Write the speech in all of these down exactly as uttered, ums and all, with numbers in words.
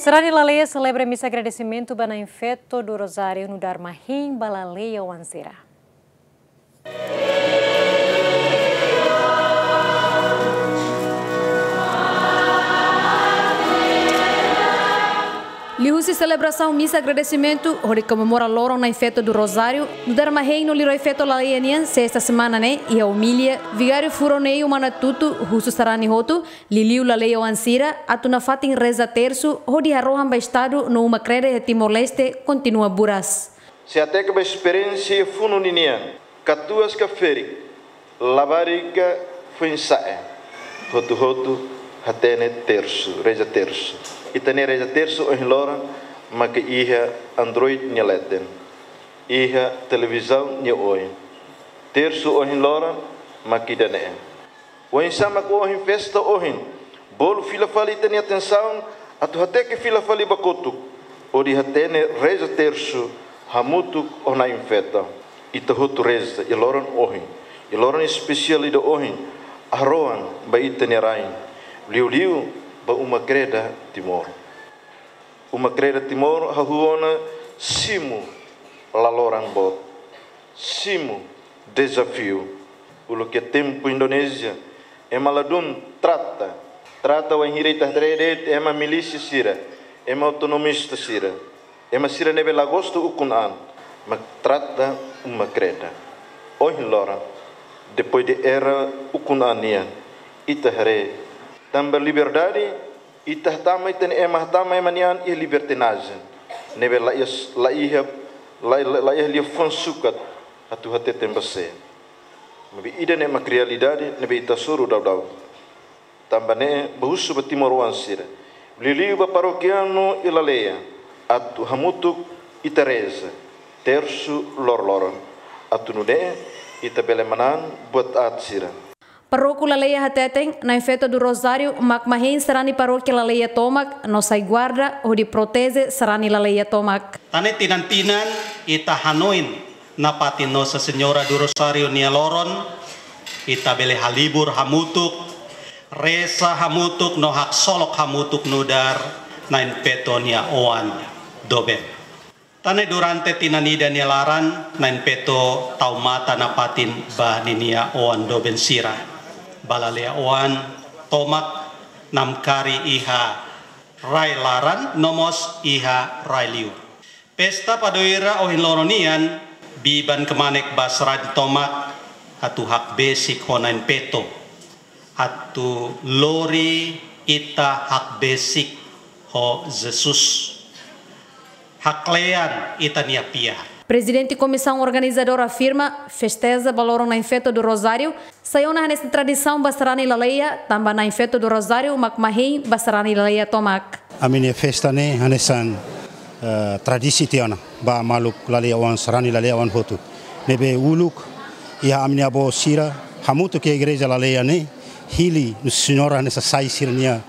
Sarani laleia selebra misa agradesimentu ba Na'in Feto do Rosário nu'udar mahein ba laleia oan sira. Liuhusi selebrasaun misa agradesimentu hodi komemora loron Na'in Feto do Rosário nu'udar mahein no liurai feto laleia nian, sesta semana ne'e, iha omilia, Vigáriu Furonei Manatutu husu sarani hotu, liuliu laleia oan sira, atu nafatin reza tersu hodi harohan ba Estadu no uma-kreda iha Timor-Leste kontinua buras. Se hateke ba esperiénsia funu ninian, katuas ka ferik, labarik ka foin-sa'e, hotu-hotu hatene tersu, reza tersu. Ita-nia reza tersu ohin loron maka iha Android nia leten, iha televizaun nia oin. Tersu ohin loron maka ida-ne'e. Oinsá mak ohin festa ohin, bolu fila fali ita-nia atensaun, atu hateke fila fali ba kotuk, hodi hatene reza tersu hamutuk ho Na'in Feto. Ita hotu reza iha loron ohin, iha loron espesiál ida ohin, harohan ba ita-nia rain, liuliu ba uma-kreda Timor. Uma-kreda Timor hahú ona simu laloran boot, simu dezafiu. Uluk iha tempu Indonézia, ema ladún trata, trata wainhira ita haree de'it ema milísia sira, ema autonomista sira, ema sira ne'ebé la gosta ukun-an, mak trata uma-kreda. Ohin loron, depois de era ukun-an nian, ita haree, tanba liberdade, ita hatama, ita-nia ema hatama ema nian iha libertinajen, ne'ebé la iha, la iha, la, la, la iha liafuan sukat atu hateten ba sé. Maibé ida-ne'e mak realidade ne'ebé ita hasoru daudaun. Tanba ne'e, bá husu ba timoroan sira, liuliu ba parokianu iha laleia, atu hamutuk ita reza tersu loroloron, atu nune'e ita bele manán buat aat sira. Paroko Laleia hateten, Na'in Feto do Rosário mak mahein sarani parókia laleia tomak, no sai guarda hodi proteje sarani laleia tomak. Tan ne'e tinan-tinan ita hanoin nafatin Nossa Senhora do Rosário nia loron, ita bele halibur hamutuk, reza hamutuk no haksolok hamutuk nu'udar Na'in Feto nia oan doben. Tan ne'e durante tinan ida nia laran, Na'in Feto tau matan nafatin ba ninia oan doben sira. Ba laleia oan tomak namkari iha rai laran no mós iha rai liur. Festa padoira ohin loron nian, biban kmanek ba sarani tomak atu hakbesik ho Na'in Feto, atu lori ita hakbesik ho Jesus, haklean ita-nia fiar. Prezidente Komisaun Organizadora afirma, festeza ba loron Na'in Feto do Rosário sai ona hanesan tradisaun ba sarani laleia, tanba Na'in Feto do Rosário mak mahein ba sarani laleia tomak. Ami-nia festa ne'e hanesan, eh, tradisaun tiha ona ba maluk laleia oan, sarani laleia oan hotu. Ne'ebé uluk iha ami-nia avó sira hamutuk iha igreja laleia ne'e, hili Nossa Senhora hanesan sai sira-nia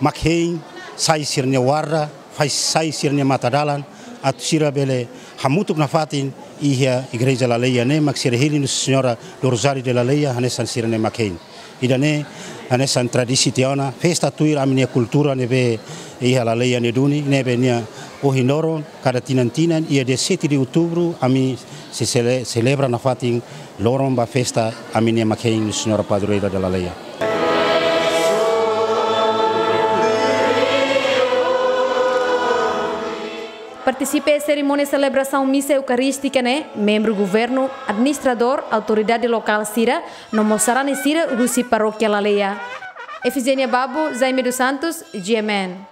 mak hein, sai sira-nia warda, fai sai sira-nia matadalan, atu sira bele hamutuk nafatin iha igreja laleia ne'e, mak sira hili Nossa Senhora do Rosário de Laleia hanesan sira-nia mak hein. Ida-ne'e hanesan tradisaun tiha ona, festa tuir ami-nia kultura ne'ebé iha laleia ne'e duni, ne'ebé nia ohin loron, kada tinan-tinan, iha dia sete de outubro, ami sei sele-, selebra nafatin loron ba festa ami-nia mak hein Nossa Senhora Padroeira da Laleia. Partisipa iha serimónia selebrasaun misa eukarístika ne'e membru governu, administradór, autoridade lokál sira, no mós sarani sira husi parókia laleia. Efigénia Babo, Jaime dos Santos, G M N.